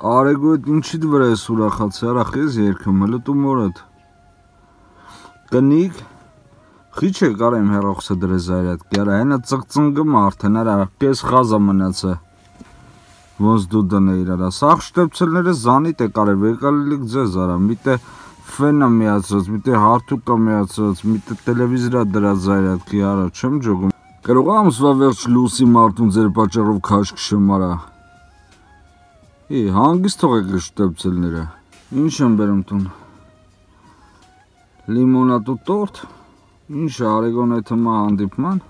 Արեգոյդ ինչիդ վրա ես ուրախացի, արա խես երկում, հլը տու մորդ կնիկ խիչ է կարեմ հերոխսը դրեզ այրատ կերա, հենը ծղծնգում արդեն, արա կես խազա մնացը ոնց դու դնե իրարա, սաղ շտեպցելները զանիտ է կարև, եկալիլիք ձեզ արա, միտե ֆենը միացրած, միտե հարթուկը միացրած, միտե տելևիզիրա դրած այրատ կի արա, չեմ ջոգում Կարող ամսվա վերջ լուսի մարդուն ձեր պատճառով քաշ քշեմ արա Հանգիստ թողեք շտեպցելները, ինչ եմ բերում տուն Լիմոնատու տորտ, ինչ արեգոն է թմա հանդիպման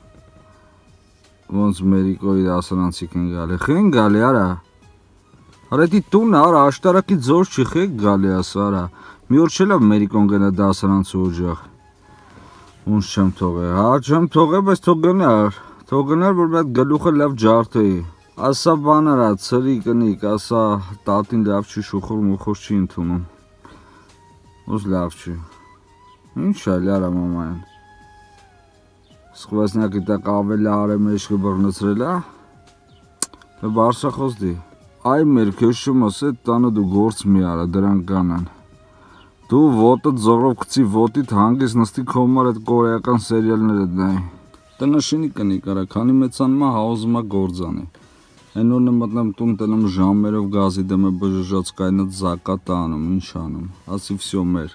Ոնց Մերիկոյի դասարանցիք են գալի, խեն գալի արա Արետի տունը արա, աշտարակի ձոր չի խեք գալի ասա արա Մի օր չելավ Մերիկոն գնա դասարանցի օջախ Ոնց չեմ թողե, հա չեմ թողե, բայց թող գնար, որ այդ գլուխը լավ ջարդեի Ասա բան արա, ծրի կնիկ, ասա տատին լավ չի շուխոր մուխոր չի ընդունում Ոնց լավ չի Ինչ այլ արա մամային Սկվասնակի տակ ավելի արեմ էշկը բռնծրել է Բարսախոս դի Այ մեր քեշում ասե տանը դու գործ մի արա դրանք կանան Դու ոտը ձորով կծի ոտիդ հանգիս նստի կոմար այդ կորեական սերիալները դնայի Տնաշինի կնիկ արա, քանի մեծանմա հաուզմա գործանի Հենորն է մտնեմ տուն տնեմ ժամերով գազի դեմ է բժժած կայնած զակատ անում, ինչ անում Ասի վսյո մեր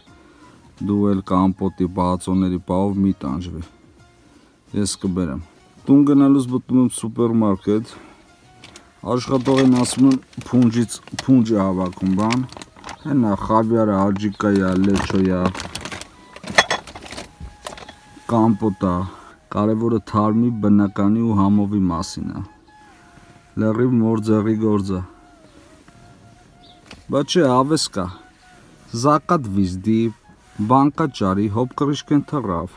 Դու էլ կամպոտի բացոների պահով մի տանջվի Ես կբերեմ Տուն գնալուց բտում եմ սուպերմարկետ Աշխատողին ասում եմ փունջից փունջ է հավաքում բան Հենա խավիարը, աջիկայա, լեչոյա Կամպոտա Կարևորը թարմի, բնականի ու համովի մասին է Լեռիվ մորձեղի գործը Բայց չէ ավես կա Զակատ վիզդի Բանկա ճարի, հոպ կրիշկեն թռավ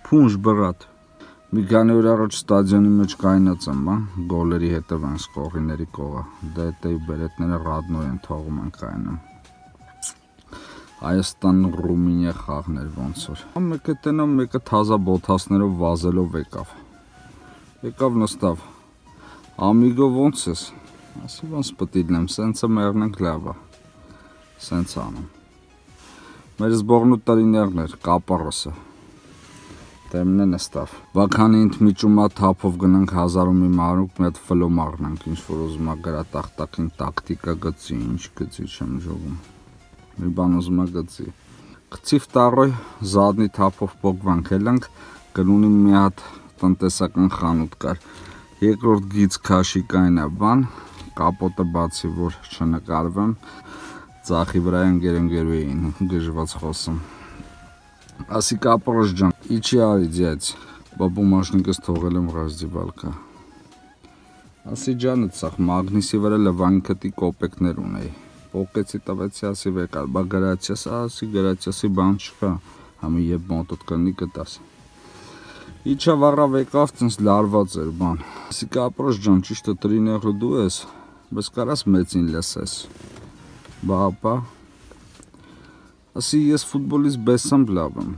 Փունջ բրատ Մի քանի օր առաջ ստադիոնի մեջ կայնած եմ, գոլերի հետև են սկողիների կողը Դետեի բերետները ռադնոյ են թողում են կայնում Հայաստան Ռումինիա խաղներ ոնց որ Մեկը տենամ, մեկը թազա բոթասներով վազելով եկավ Եկավ նստավ Ամիգո ոնց ես Ասի ոնց պտիլնեմ, սենցը մեղնենք լավա Սենց անում Մեր զբողնու տրիներն էր, կապարոսը Դեմն է նստավ Բաքանի ինտմիջումա թափով գնանք հազարում մի մարուկ մի հատ ֆլո մաղնանք ինչ-որ ուզումա գրատախտակին տակտիկա գծի, ինչ գծի չեմ ժողում Մի բան ուզումա գծի Խցիվ տարոյ զադնի թափով պոգվանք էլանք գնունի մի հատ տնտեսական խանութ կար Երկրորդ գիծ քաշի կայնա բան Կապոտը բացի որ չնկարվեմ Ձախի վրա ընկերու էին գժված խոսում Ասի կապորոշ ջան, իչի արի ձյաց, բաբումաշնիկս թողել եմ ռազդիվալկա Ասի ջանը ծախ, մագնիսի վրա լվանքտի կոպեկներ ունեի Պոկեցի տվեցի ասի վեկալ, բա գրացյաս, ասի գրացյասի բան չկա Համի եբ մոտոտ կնի կտաս Իչա վառա վեկավ ծնս լարված էր բան Ասի կապորոշ ջան, ճիշտը տրիները դու ես, բես կարաս մեծին լսես Բա ապա Ասի ես ֆուտբոլից բեսամբ լավ եմ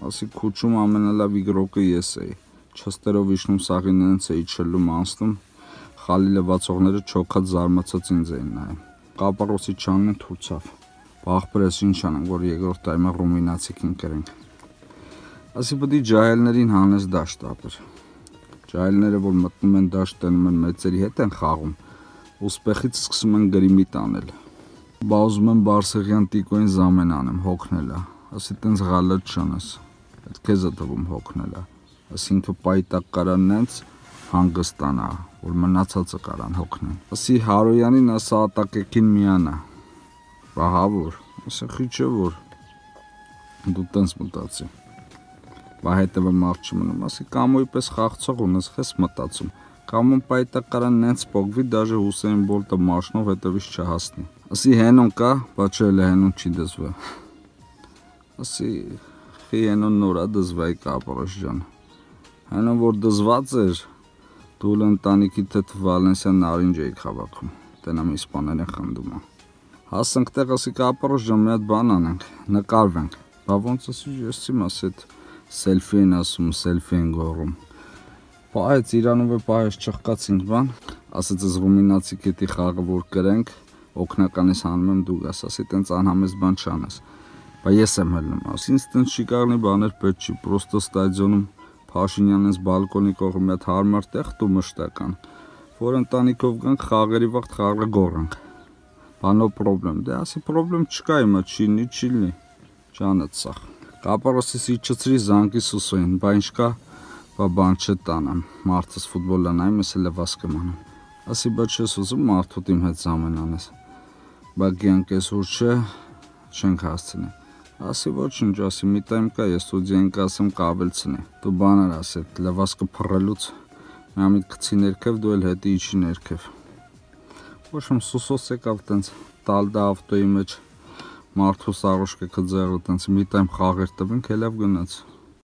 Ասի քուչում ամենալավ իգրոկը ես էի Չստերով իշնում սաղին նենց էի չլում անցնում Խալի լվացողները չոքած զարմացած ինձ էին նայում Կապարոսի չանն թուրցավ Բաղբրես ինչ անենք որ երկրորդ տայմը ռումինացիքին կրենք Ասի պտի ջահելներին հանես դաշտ ապր Ջահելները որ մտնում են դաշտ տենում են մեծերի հետ են խաղում Ուսպեխից սկսում են գրիմի տանել Բա ուզում եմ Բարսեղյան տիկոյին զամեն անեմ, հոգնելա Ասի տենց ғալատ չանես Այդ քեզ է թվում հոգնելա Ասի ինքը պայտակ կարան նենց հանգստանա Որ մնացածը կարան հոգնեն Ասի Հարոյանին ասա ատակեքին միանա Բա հավոր Ասի խիչ է որ Դու տենց մտացի Բա հետևը մարդ չմնում Ասի կամոյի պես խաղցող ունես խես մտացում Կամոն պայտակ կարան նենց պոգվի Դաժե Հուսեին Բոլտը մաշնով հետևից չհասնի Ասի հենոն կա, բա չէ էլ հենոն չի դզվա Ասի խի հենոն նորա դզվայի կապարոշ ջան Հենոն որ դզված էր Դու էլ ընտանիքի թեթ Վալենսյան նարինջ էիք հավաքում Տենամ իսպաներ են խնդում Հասանք տեղ ասի կապարոշ ջան մի հատ բան անենք Նկարվենք Բա ոնց ասի ես իմ ասի սելֆի են ասում, սելֆի են գողում Պահեց Իրանով է պահեց չխկացինք բան, ասեց ես ռումինացի կետի խաղը որ կրենք, օգնականից հանում եմ դու գաս, ասի տենց անհամես բան չանես։ Բա ես եմ հելնում, ասինց տենց շիկարնի բաներ պետք չի, պրոստո ստադիոնում Փաշինյանից բալկոնի կողմը մի հատ հարմար տեղ տու մշտական, որ ընտանիքով գանք խաղերի վաղտ խաղը գոռանք։ Բանո պրոբլեմ, դե ասի պրոբլեմ չկա հիմա, չի լինի, ջանդ սախ։ Կապարոսից իջցրի զանգի Սուսոյին, բա ինչ կա, բան չտանամ, մարդս ֆուտբոլ անայում, ես էլ վաս կմանամ։ Ասի բա չես ուզում մարդուտ իմ հետ զամեն անես։ Բա գյանք ես ուր չէ, չենք հասցնի։ Ասի ոչինչ, ասի մի տայմ կա, ես ստուդիային կասեմ կաբելցնի։ Դու բաներ ասի, լվասկը փռելուց միամիտ գցի ներքև, դու էլ հետի իջի ներքև։ Ոչ եմ Սուսոս եկավ տենց տալդա ավտոյի մեջ մարդու սարոշկը կձեղը տենց մի տայմ խաղեր տվենք, հելավ գնաց։